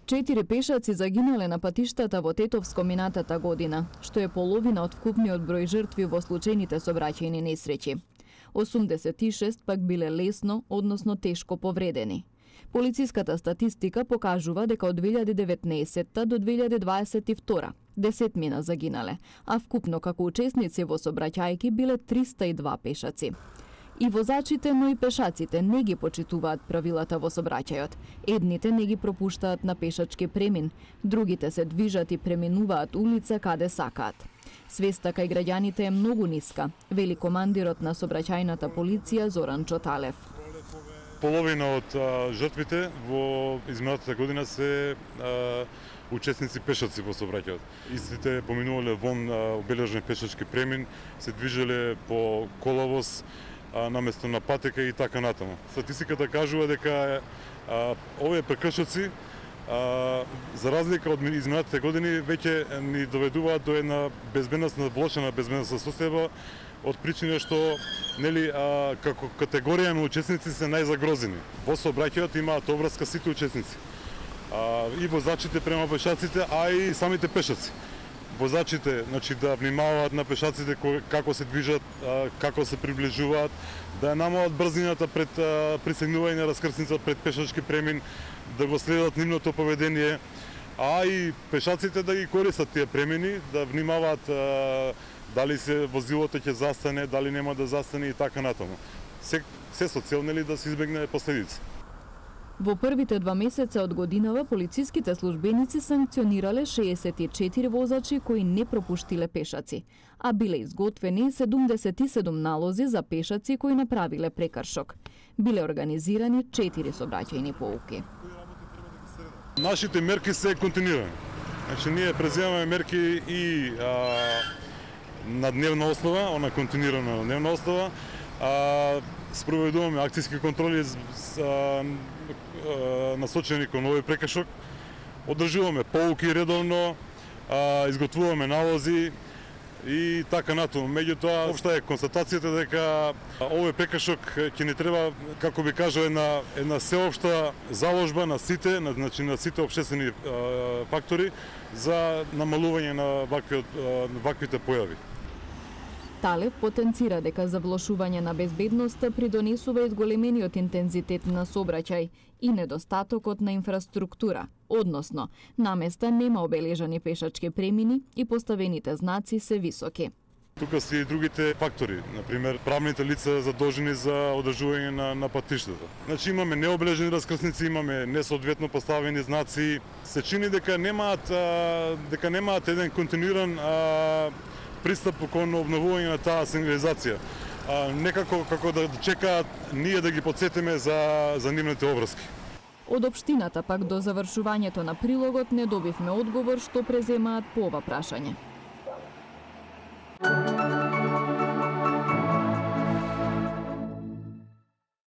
4 пешаци загинале на патиштата во Тетовско минатата година, што е половина од вкупниот број жртви во случајните сообраќајни несреќи. 86 пак биле лесно, односно тешко повредени. Полициската статистика покажува дека од 2019 до 2022 10 загинале, а вкупно како учесници во сообраќајки биле 302 пешаци. И возачите, но и пешаците не ги почитуваат правилата во сообраќајот. Едните не ги пропуштаат на пешачки премин, другите се движат и преминуваат улица каде сакаат. Свеста кај граѓаните е многу ниска, вели командирот на сообраќајната полиција Зоран Чоталев. Половина од жртвите во изминатата година се учесници пешаци во сообраќајот. Истите поминувале вон обележен пешачки премин, се движеле по коловоз наместо на патека и така натаму. Статистиката кажува дека овие прекршоци за разлика од изминатите години веќе ни доведуваат до една безбедносна, влошена безбедносна состојба од причина што како категорија на учесници се најзагрозени. Во сообраќајот имаат обврска сите учесници. И возачите према пешаците, а и самите пешаци. Возачите, да внимаваат на пешаците како се движат, како се приближуваат, да намалат брзината пред присегнување на раскрсница пред пешачки премин, да го следат нивното поведение, а и пешаците да ги користат тие премини, да внимаваат дали се возилото ќе застане, дали нема да застане и така натаму. Се со цел да се избегне последици. Во првите 2 месеца од годинава полициските службеници санкционирале 64 возачи кои не пропуштиле пешаци, а биле изготвени 77 налози за пешаци кои направиле прекршок. Биле организирани 4 сообраќајни поуки. Нашите мерки се континуирани. Ние преземаме мерки и на дневна основа, она континуирана на дневна основа, спроведуваме акцијски контроли насочени кон овој прекршок, одржуваме поуки редовно, изготвуваме налози и така натаму. Меѓутоа, општа е констатацијата дека овој прекршок ќе ни треба, како би кажал, една сеопшта заложба на сите, на сите општествени фактори за намалување на ваквите појави. Талев потенцира дека за влошување на безбедноста придонесува изголемениот интензитет на сообраќај и недостатокот на инфраструктура, односно, наместа нема обележани пешачки премини и поставените знаци се високи. Тука се и другите фактори, например правните лица задолжени за одржување на патиштата. Имаме необележени раскрсници, имаме несоодветно поставени знаци. Се чини дека немаат еден континуиран пристап кон обновување на таа сигнализација. Некако како да чекаат ние да ги потсетиме за нивните обврски. Од општината пак до завршувањето на прилогот не добивме одговор што преземаат по ова прашање.